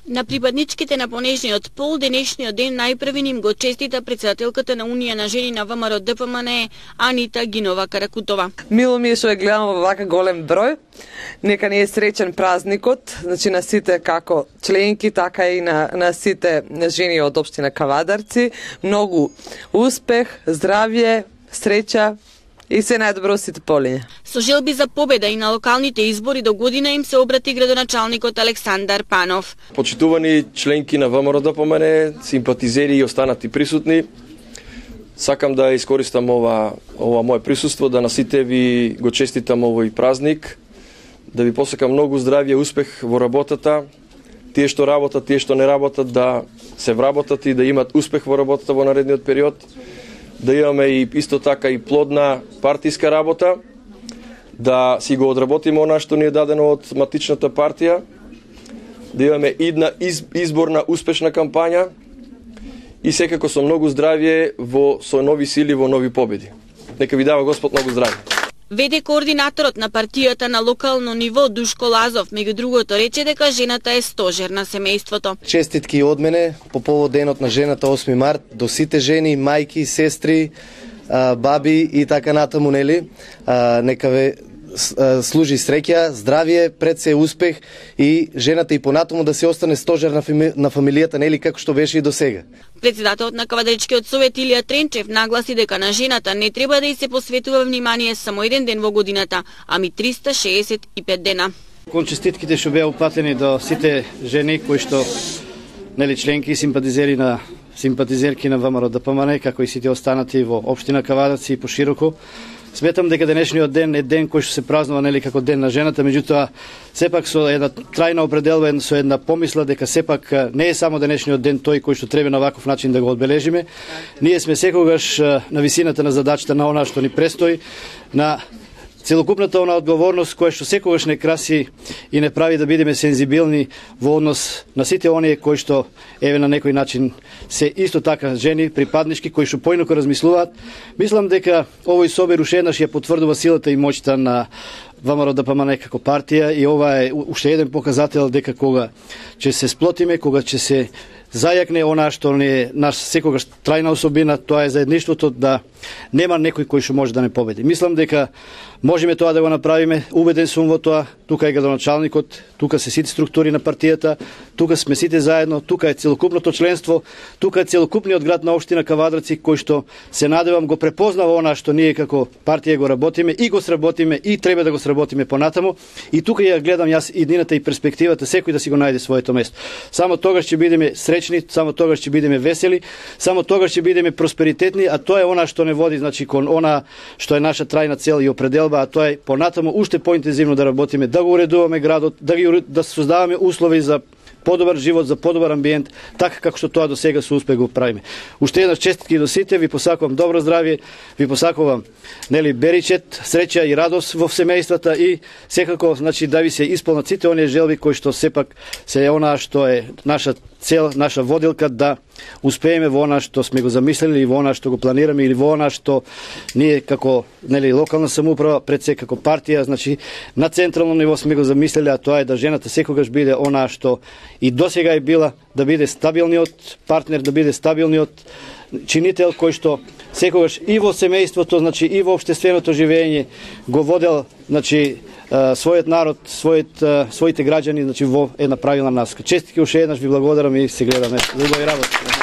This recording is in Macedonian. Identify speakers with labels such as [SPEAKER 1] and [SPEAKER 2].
[SPEAKER 1] На припадничките на понежниот пол денешниот ден најпрви ним го честита председателката на Унија на жени на ВМРО ДПМНЕ Анита Гинова Каракутова.
[SPEAKER 2] Мило ми е што ја гледам во вака голем број. Нека не е среќен празникот, значи на сите како членки, така и на сите жени од општина Кавадарци. Многу успех, здравје, среќа и се најдобро сите полиња.
[SPEAKER 1] Со желби за победа и на локалните избори до година им се обрати градоначалникот Александар Панов.
[SPEAKER 3] Почитувани членки на ВМРО ДПМНЕ, симпатизери и останати присутни, сакам да искористам ова мое присуство да на сите ви го честитам овој празник, да ви посакам многу здравје, успех во работата, тие што работат, тие што не работат да се вработат и да имат успех во работата во наредниот период. Да имаме и исто така и плодна партиска работа, да си го одработиме она што ни е дадено од матичната партија, да имаме една изборна успешна кампања и секако со многу здравје со нови сили, во нови победи. Нека ви дава Господ многу здравје.
[SPEAKER 1] ВД координаторот на партијата на локално ниво Душко Лазов, меѓу другото, рече дека жената е стожер на семејството.
[SPEAKER 4] Честитки од мене по повод денот на жената 8 март до сите жени, мајки, сестри, баби и така натаму, нели? Нека ве служи среќа, здравје, пред се успех и жената и понатаму да се остане стожер на фамилијата, нели, како што беше и до сега.
[SPEAKER 1] Председателот на Кавадаричкиот совет Илија Тренчев нагласи дека на жената не треба да й се посветува внимание само еден ден во годината, ами 365 дена.
[SPEAKER 5] Кон честитките што беа упатени до сите жени кои што нели членки и симпатизерки на ВМРО ДПМНЕ, како и сите останати во општина Кавадарци и пошироко. Сметам дека денешниот ден е ден кој што се празнува нели како ден на жената, меѓутоа сепак со една трајна определба, со една помисла дека сепак не е само денешниот ден тој кој што треба на ваков начин да го одбележиме. Ние сме секогаш на висината на задачата на она што ни престои, на целокупната она одговорност која што секогаш не краси и не прави да бидеме сензибилни во однос на сите оние кои што еве на некој начин се исто така жени, припаднички кои што поинаку размислуваат. Мислам дека овој собир уште еднаш ја потврдува силата и моќта на ВМРО ДПМНЕ како партија и ова е уште еден показател дека кога ќе се сплотиме, кога ќе се зајакне она што не е наш секогаш трајна особина, тоа е заедништвото, да нема некој кој што може да не победи. Мислам дека можеме тоа да го направиме, убеден сум во тоа, тука е градоначалникот, тука се сите структури на партијата, тука сме сите заедно, тука е целокупното членство, тука е целокупниот град на општина Кавадарци кој што се надевам го препознава она што ние како партија го работиме и го сработиме и треба да го сработиме понатаму и тука ја гледам јас иднината и перспективата секој да си го најде своето место. Само тогаш ќе бидеме среќни, само тогаш ќе бидеме весели, само тогаш ќе бидеме просперитетни, а тоа е она што не води значи кон она што е наша трајна цел и определба, а тоа е понатаму уште поинтензивно да работиме, да го уредуваме градот, да создаваме услови за подобар живот, за подобар амбиент, така како што тоа до сега со успех го правиме. Уште еднаш честитки до сите, ви посакувам добро здравје, ви посакувам нели беричет, среќа и радост во семејствата и секако значи да ви се исполнат сите оние желби кои што сепак се е она што е наша цел, наша водилка да успееме во она што сме го замислили и во она што го планираме или во она што ние како нели локална самоуправа пред се како партија, значи на централно ниво сме го замислили, а тоа е да жената секогаш биде она што и досега е била, да биде стабилниот партнер, да биде стабилниот чинител кој што секогаш и во семејството, значи и во општественото живење го водел значи својот народ, своите граѓани значи во една правилна наска. Честитки уште еднаш, ви благодарам и се гледаме. Убави работа.